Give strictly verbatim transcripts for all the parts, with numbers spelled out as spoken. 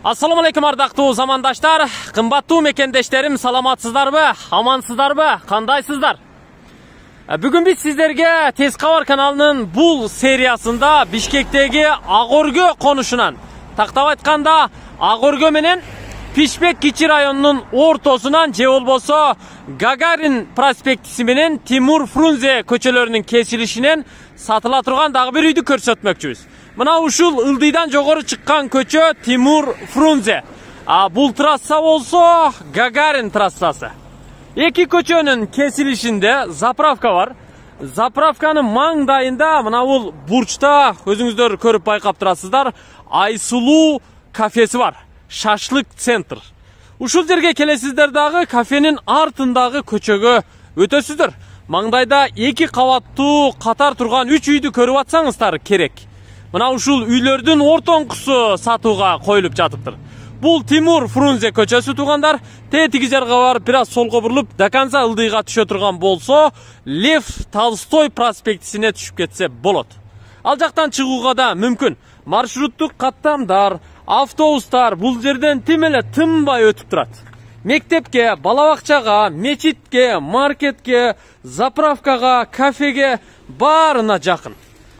Assalamu alaikum ардактуу замандаштар, кымбаттуу мекендештерим, саламатсыздарбы, амансыздарбы, кандайсыздар? Бүгүн биз сиздерге Тез кабар каналынын бул сериясында Бишкектеги Ак Өргө конушунан, тактап айтканда Ак Өргө менен Пишпек кичи районунун ортосунан же болбосо Гагарин проспектиси менен Тимур Фрунзе көчөлөрүнүн кесилишинен сатыла турган дагы бир үйдү көрсөтмөкчүбүз. Мына ушул ылдыйдан жогору чыккан көчө Тимур Фрунзе. А бул трасса болсо Гагарин трассасы. Эки көчөнүн кесилишинде заправка бар. Заправканын маңдайында мына бул бурчта өзүңүздөр көрүп байкап турасыздар, Айсулуу кафеси бар. Шашлык центр. Ушул жерге келесиздер дагы кафенин артындагы көчөгө өтөсүздөр. Маңдайда эки кабаттуу катар турган үч үйдү көрүп атсаңыздар керек. Мына ушул үйлөрдүн ортоңкусу сатууга коюлуп жатыптыр. Бул Тимур Фрунзе көчөсү туугандар. Тетиги жарга барып, бир аз солго бурулуп, до конца ылдыйга түшө турган болсо, Лев Толстой проспектисине түшүп кетсе болот. Ал жактан чыгууга да мүмкүн. Маршруттук каттамдар, автобустар бул жерден тим эле тынбай өтүп турат. Мектепке, бала бакчага, мечитке, маркетке, заправкага, кафеге баарына жакын.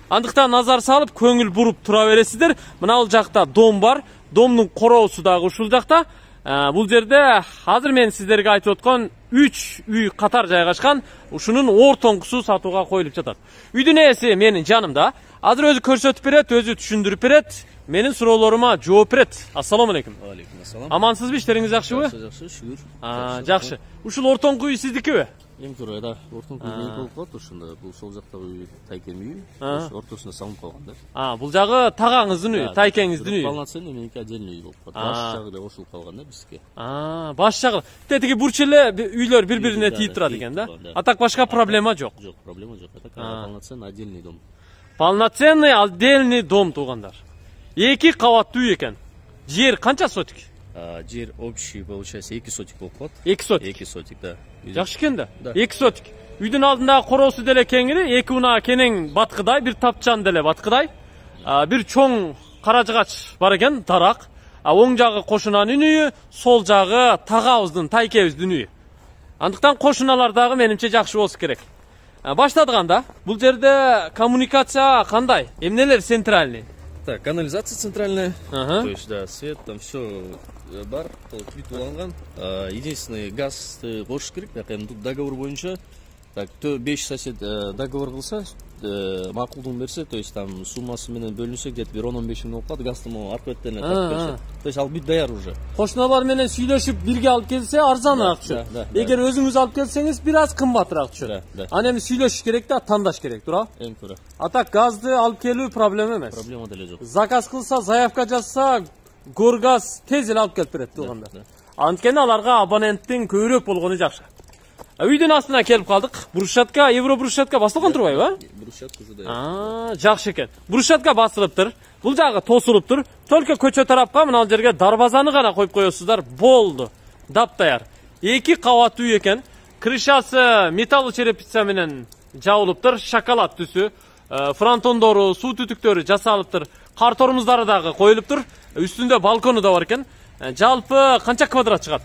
Андыктан назар салып, көңүл буруп тура бересиздер. Мына бул жакта дом бар. Домдун короосу дагы ушул жакта. Бул жерде азыр мен сиздерге айтып аткан үч үй катар жайгашкан. Ушунун ортоңкусу сатууга коюлуп жатат. Үйдүн ээси менин жанымда. Азыр өзү көрсөтүп берет, өзү түшүндүрүп берет. Менин суроолорума жооп берет. Ассаламу алейкум. Алейкум ассалам. Амансызбы, иштериңиз жакшыбы? Жакшы, жакшы, шүгүр. А, жакшы. Ушул ортоңку үй сиздикиби? Эң туура, да. Ортоңку үй меники болуп калат ушунда. Бул сол жактагы үй тайкем үй. Ортосуна салынып калган да. А, бул жагы тагаңыздын үйү, тайкеңиздин үйү. Полноценный меники отдельный үй болуп калат. Баш жагы да кошулуп калган да бизге. А, баш жагы. Тетиги бурч эле үйлөр бири-бирине тийип турат экен да. А так башка проблема жок. Жок, проблема жок. А так полноценный отдельный дом. Полноценный отдельный дом туугандар. Эки кабаттуу үй экен. Жер канча сотик? Жер общий получается эки сотик болуп калат. эки сотик. эки сотик, да. Жакшы экен да. эки сотик. Үйдүн алдындагы короосу деле кеңири, эки унаа кенең баткыдай, бир тапчан деле баткыдай. Бир чоң каражыгач бар экен, дарак. Оң жагы кошунанын үйү, сол жагы тагабыздын, тайкебиздин үйү. Андыктан кошуналар дагы менимче жакшы болсо керек. Баштадыганда, бул жерде коммуникация кандай? Эмнелер центральный? Так, канализация центральная. То есть, да, свет, там все бар, бүт уланган. Единственный газ кошуш керек, тут договор боюнча. Так, беш сосед договор кылса, макулдугун берсе, то есть там суммасы менен бөлүнсө где-то бир он он беш миң болуп калат, газды могу аркы беттен тартып берсе. То есть ал бүт даяр уже. Кошуналар менен сүйлөшүп бирге алып келсе арзаныраак түшөт. Эгер өзүңүз алып келсеңиз бир аз кымбатыраак түшөт. Аны эми сүйлөшүш керек да, тандаш керек, туура? Эң туура. А так газды алып келүү проблема эмес. Проблема деле жок. Заказ кылса, заявка жазса, Горгаз тез эле алып келип берет туугандар. Анткени аларга абоненттин көбүрөөк болгону жакшы. Үйдүн астына келип калдык. Брусчатка, евро брусчатка басылган турбайбы? Брусчатка уже да. А, жакшы экен. Брусчатка басылыптыр. Бул жагы тосулуптур. Только көчө тарапка мына бул жерге дарбазаны гана коюп коесуздар. Болду. Даптаяр. Эки кабаттуу үй экен. Крышасы металл черепица менен жабылыптыр. Шоколад түсү. Фронтондору, суу түтүктөрү жасалыптыр. Кар тормуздары дагы коюлуптур. Үстүндө балкону да бар экен. Жалпы канча квадрат чыгат?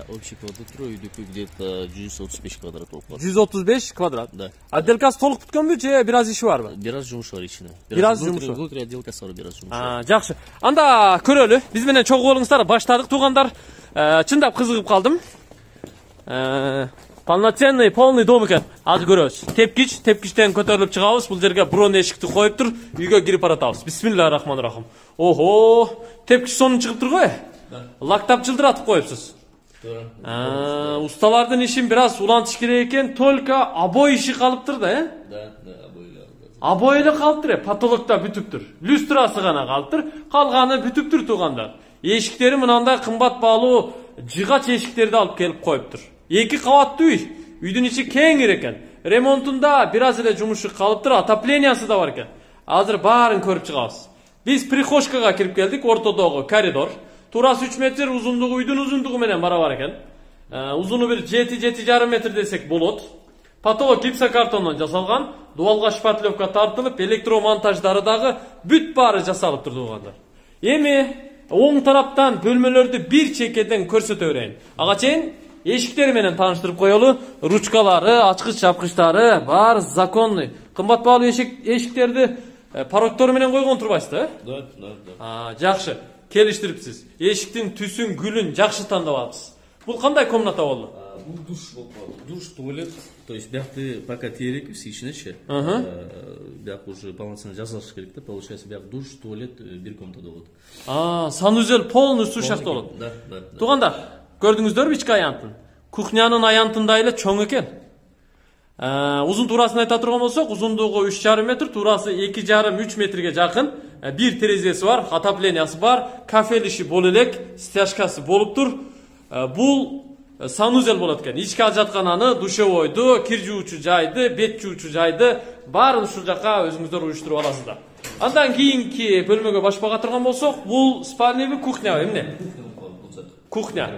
Общий квадрат үйдүкү где-то жүз отуз беш квадрат болуп калат. жүз отуз беш квадрат. Да. Отделкасы толук бүткөнбү же бир аз иши барбы? Бир аз жумушу бар ичине. Бир аз жумушу. Внутри отделкасы бар, бир аз жумушу. А, жакшы. Анда көрөлү. Биз менен чогуу болуңуздар, баштадык туугандар. Чындап кызыгып калдым. Полноценный, полный дом экен. Азыр көрөбүз. Тепкич, тепкичтен көтөрүлүп чыгабыз. Бул жерге бронь эшикти коюптур. Үйгө кирип баратабыз. Бисмиллахиррахманиррахим. Охо, тепкич сонун чыгып турбайбы? Лактап жылдыратып коюпсуз. Усталардын ишин бир аз улантыш керек экен, только обой иши калыптыр да, э? Да, да, обой эле. Обой эле калыптыр, потолокто бүтүптүр. Люстрасы гана калыптыр, калганы бүтүптүр туугандар. Эшиктери мынандай кымбат баалуу жыгач эшиктерди алып келип коюптур. Эки кабаттуу үй, үйдүн ичи кеңир экен. Ремонтунда бир аз эле жумушу калыптыр, отоплениясы да бар экен. Азыр баарын көрүп чыгабыз. Биз прихожкага кирип келдик, ортодогу коридор. Турасы үч метр, узундугу үйдүн узундугу менен барабар экен. Узуну бир жети жети жарым метр десек болот. Потолок гипсокартондон жасалган, дуалга шпатлевка тартылып, электромонтаждары дагы бүт баары жасалып турду туугандар. Эми оң тараптан бөлмөлөрдү бир чекеден көрсөтө берейин. Ага чейин эшиктери менен тааныштырып коелу. Ручкалары, ачкыч чапкычтары баары законный. Кымбат баалуу эшиктерди порогтору менен койгон турбайсызбы, э? Да, да, да. А, жакшы. Келиштириптсиз. Эшиктин түсүн, гүлүн жакшы тандап алыпсыз. Бул кандай комната болду? Бул душ болуп калды. Душ, туалет. То есть биякты пока теrekпиз ичинечи. Бияк уже полноценно жасалыш керек да. Получается, бияк душ, туалет бир комнатада болот. А, санузел полностью шахта болот. Да, да. Туугандар, көрдүңүздөрбү ички аянтын? Кухнянын аянтындай эле чоң экен. Узун туурасын айта турган болсок, узундугу үч жарым метр, туурасы эки жарым үч метрге жакын. Бир терезеси бар, отоплениясы бар, кафель иши боло элек, стяжкасы болуптур. Бул санузел болот экен. Ички ажаткананы, душевойду, кир жуучу жайды, бет жуучу жайды баарын ушул жака өзүңүздөр уюштуруп аласыздар. Андан кийинки бөлмөгө башпага турган болсок, бул спальныйбы, кухнябы, эмне? Кухня.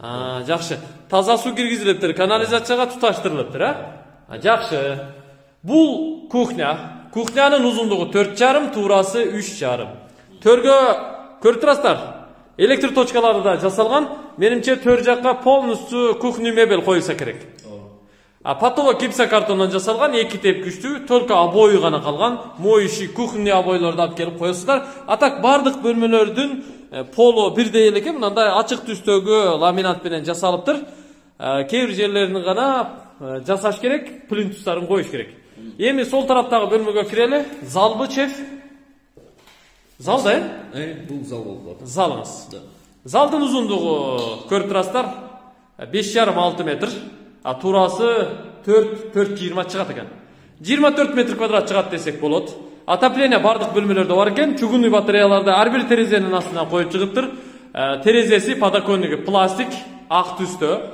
А, жакшы. Таза суу киргизилиптир, канализацияга туташтырылыптыр, а? Жакшы. Бул кухня. Кухнянын узундугу төрт жарым, туурасы үч жарым. Төргө көрүп турасыздар. Электр точкалары да жасалган. Менимче төр жакка полностью кухня мебель коюлса керек. А потолок гипсокартондон жасалган, эки тепкичтүү, только обои гана калган. Моющий кухня обойлорду алып келип коесуздар. А так бардык бөлмөлөрдүн полу бирдей эле экен. Мындай ачык түстөгү ламинат менен жасалыптыр. Кээ бир жерлерин гана жасаш керек, плинтустарын коюш керек. Эми сол тараптагы бөлмөгө кирели. Залбы, чеф? Зал да, э? Бул зал болот. Залыңыз. Залдын узундугу көрүп турасыздар, беш жарым алты метр, а туурасы төрт төрт жыйырма чыгат экен. жыйырма төрт метр квадрат чыгат десек болот. Отопление бардык бөлмөлөрдө бар экен. Чугунный батареяларды ар бир терезенин астына коюп чыгыптыр. Терезеси подоконниги пластик, ак түстө.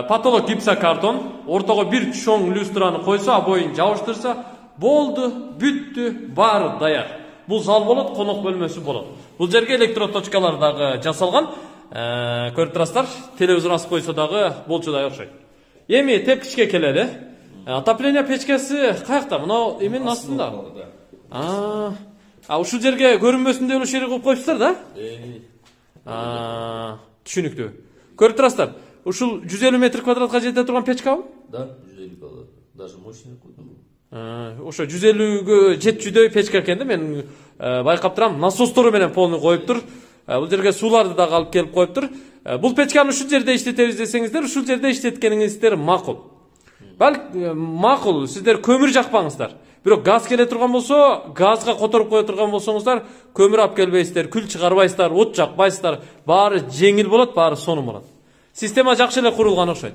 Потолок гипсокартон, ортого бир чоң люстраны койсо, обоюн жабыштырса, болду, бүттү, баары даяр. Бул зал болот, конок бөлмөсү болот. Бул жерге электроточкалар дагы жасалган. Көрүп турасыздар, телевизор асып койсо дагы болчудай окшойт. Эми тепкичке келели. Отопление печкеси каякта? Мына эменин астында. А, а ушул жерге көрүнбөсүн деп эле шерек коюп коюпсуздар да? А, түшүнүктүү. Көрүп турасыздар. Ушул жүз элүү метр квадратка жете турган печкабы? Да, жүз элүү квадрат. Даже мощный койдум. Ошо жүз элүүгө жетчүдөй печка экен да, мен байкап турам. Насостору менен полный коюптур. Бул жерге сууларды дагы алып келип коюптур. Бул печканы ушул жерде иштетебиз десеңиздер, ушул жерде иштеткениңиздер макул. Балки макул, сиздер көмүр жакпаңыздар. Бирок газ келе турган болсо, газга которуп кое турган болсоңуздар, көмүр алып келбейсиздер, күл чыгарбайсыздар, от жакпайсыздар. Баары жеңил болот, баары сонун болот. Система жакшы эле курулган окшойт.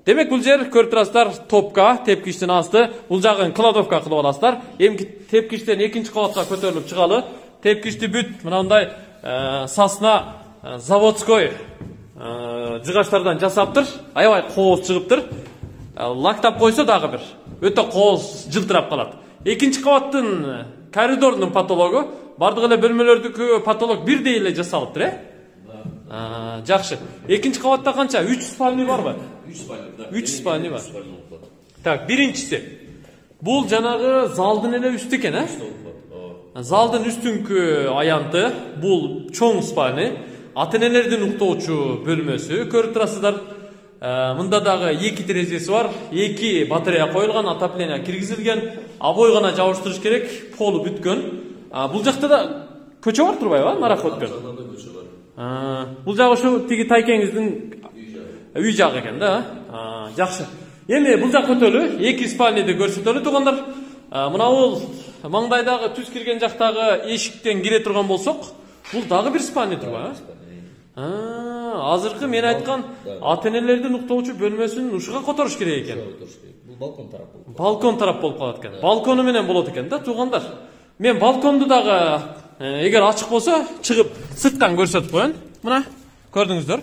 Демек бул жер көрүп турасыздар, топка, тепкичтин асты, бул жагын кладовка кылып аласыздар. Эми тепкичтен экинчи кабатка көтөрүлүп чыгалы. Тепкичти бүт мындай сасна заводской жыгачтардан жасаптыр. Аябай кооз чыгыптыр. Лактап койсо дагы бир өтө кооз жылтырап калат. Экинчи кабаттын коридордун потологу бардык эле бөлмөлөрдүкү потолок бирдей эле жасалыптыр, э? Жакшы. Экинчи кабатта канча? үч спальный барбы? үч спальный, да. үч спальный бар. Так, биринчиси. Бул жанагы залдын эле үстү экен, э? Залдын үстүнкү аянты, бул чоң спальный, ата-энелердин уктоочу бөлмөсү. Көрүп турасыздар, мында дагы эки терезеси бар, эки батарея коюлган, отопление киргизилген, обой гана жабыштырыш керек, полу бүткөн. Бул жакта да көчө бар турбайбы? Нарак өткөн. Бул жагы ушу тиги тайкеңиздин үй жагы экен да. Жакшы. Эми бул жак өтөлү, эки спальныйды көрсөтөлү туугандар. Мына бул маңдайдагы түз кирген жактагы эшиктен кире турган болсок, бул дагы бир спальный турбайбы? Азыркы мен айткан ата-энелердин уктоочу бөлмөсүн ушуга которуш керек экен. Бул балкон тарап болот. Балкон тарап болуп калат экен. Балкону менен болот экен да туугандар. Мен балконду дагы эгер ачык болсо чыгып сырттан көрсөтүп коеюн. Мына көрдүңүздөр.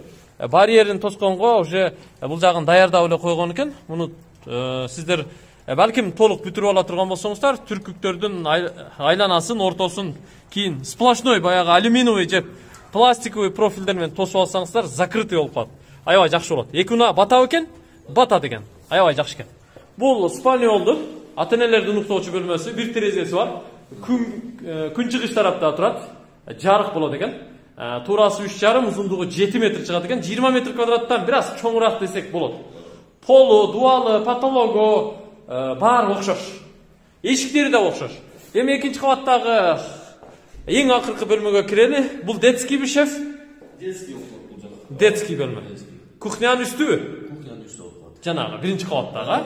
Барьерин тосконго уже бул жагын даярдап эле койгон экен. Муну сиздер балким толук бүтүрүп ала турган болсоңуздар, түркүктөрдүн айланасын, ортосун кийин сплошной баягы алюминиевый жеп пластиковый профилдер менен тосуп алсаңыздар, закрытый болуп калат. Аябай жакшы болот. Эки уна батабы экен? Батат экен. Аябай жакшы экен. Бул спальня болду. Ата-энелердин уктоочу бөлмөсү, бир терезеси бар. Күн күн чыгыш тарапта турат. Жарык болот экен. Туурасы үч жарым, узундугу жети метр чыгат экен. жыйырма метр квадраттан бир аз чоңураак десек болот. Полу, дуалы, потологу баары окшош. Эшиктери да окшош. Эми экинчи кабаттагы эң акыркы бөлмөгө кирели. Бул детский би, шеф? Детский болот бул жакта. Детский бөлмө. Кухнянын үстүбү? Кухнянын үстү болот. Жанагы биринчи кабаттагы.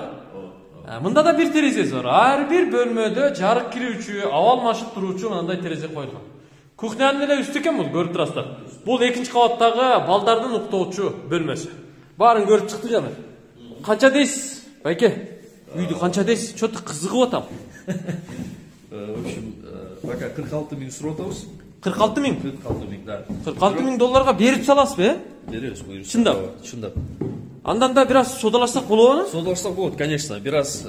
Мында да бир терезеси бар. Ар бир бөлмөдө жарык кирүүчү, абал машык туруучу мындай терезе коюлган. Кухнянын эле үстү экен бул, көрүп турасыздар. Бул экинчи кабаттагы балдардын уктоочу бөлмөсү. Баарын көрүп чыкты жана. Канча дейсиз, байке? Үйдү канча дейсиз? Чөтү кызыгып атам. В общем, пока кырк алты миң сурап атабыз. кырк алты миң? кырк алты миң, да. кырк алты миң долларга берип саласызбы, э? Беребиз, буюрса. Чындап? Чындап. Андан да бир аз содалашсак болобу? Содалашсак болот, конечно. Бир аз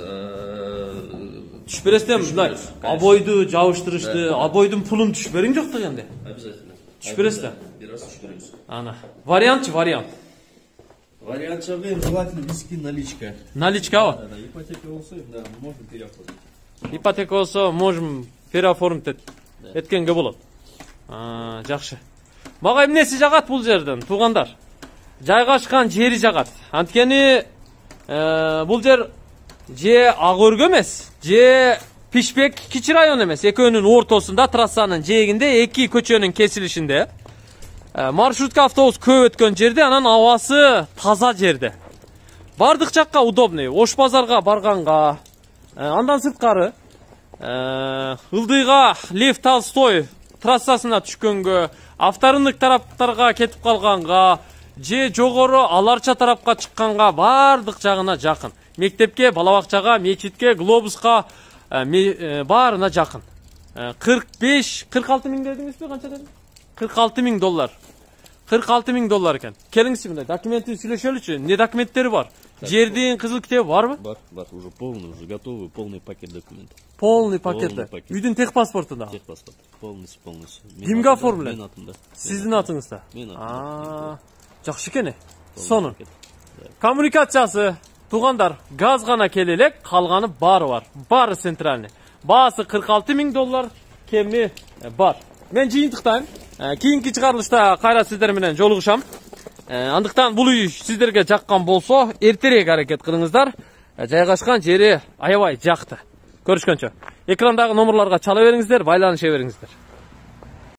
түшүп бересиз, мындай обойду жабыштырышты, обойдун пулун түшүп бериң жок дегенде. Обязательно. Түшүп бересиз да? Бир аз түшүп беребиз. Ана. Вариантчы, вариант. Вариант чагы желательно виски наличка. Наличкабы? Да, ипотека болсо, да, можем переоформить. Ипотека болсо, можем переоформить эткенге болот. А, жакшы. Мага эмнеси жагат бул жерден, туугандар? Жайгашкан жери жагат. Анткени бул жер же Ак өргө эмес, же Пишпек кичи район эмес. Экөөнүн ортосунда, трассанын жээгинде, эки көчөнүн кесилишинде. Маршрутка автобус көп өткөн жерде, анан абасы таза жерде. Бардык жакка удобный. Ош базарга барганга, андан сырткары Ылдыйга Лев Толстой трассасына түшкөнгө, авторынык тараптарга кетип калганга, же жогору Аларча тарапка чыкканга бардык жагына жакын. Мектепке, балабакчага, мечитке, глобуска баарына жакын. кырк беш, кырк алты миң дедиңизби, канча дедиң? кырк алты миң доллар. кырк алты миң доллар экен. Келиңизчи мындай документин сүйлөшөлүчү. Не документтери бар? Жердин кызыл китеби барбы? Бар, бар, уже полный, уже готовый, полный пакет документов. Полный пакет. Үйдүн техпаспорту да. Техпаспорт, полностью, полностью. Кимге оформлен? Менин атымда. Сиздин атыңызда. Менин атымда. Жакшы экен. Сонун. Коммуникациясы, туугандар, газ гана келе элек, калганы баары бар. Баары центральный. Баасы кырк алты миң доллар, кеми бар. Мен жыйынтыктайм. Кийинки чыгарылышта кайра сиздер менен жолугушам. Андыктан бул үй сиздерге жаккан болсо, эртерээк аракет кылыңыздар. Жайгашкан жери аябай жакты. Көрүшкөнчө. Экрандагы номерлорго чала бериңиздер, байланыша бериңиздер.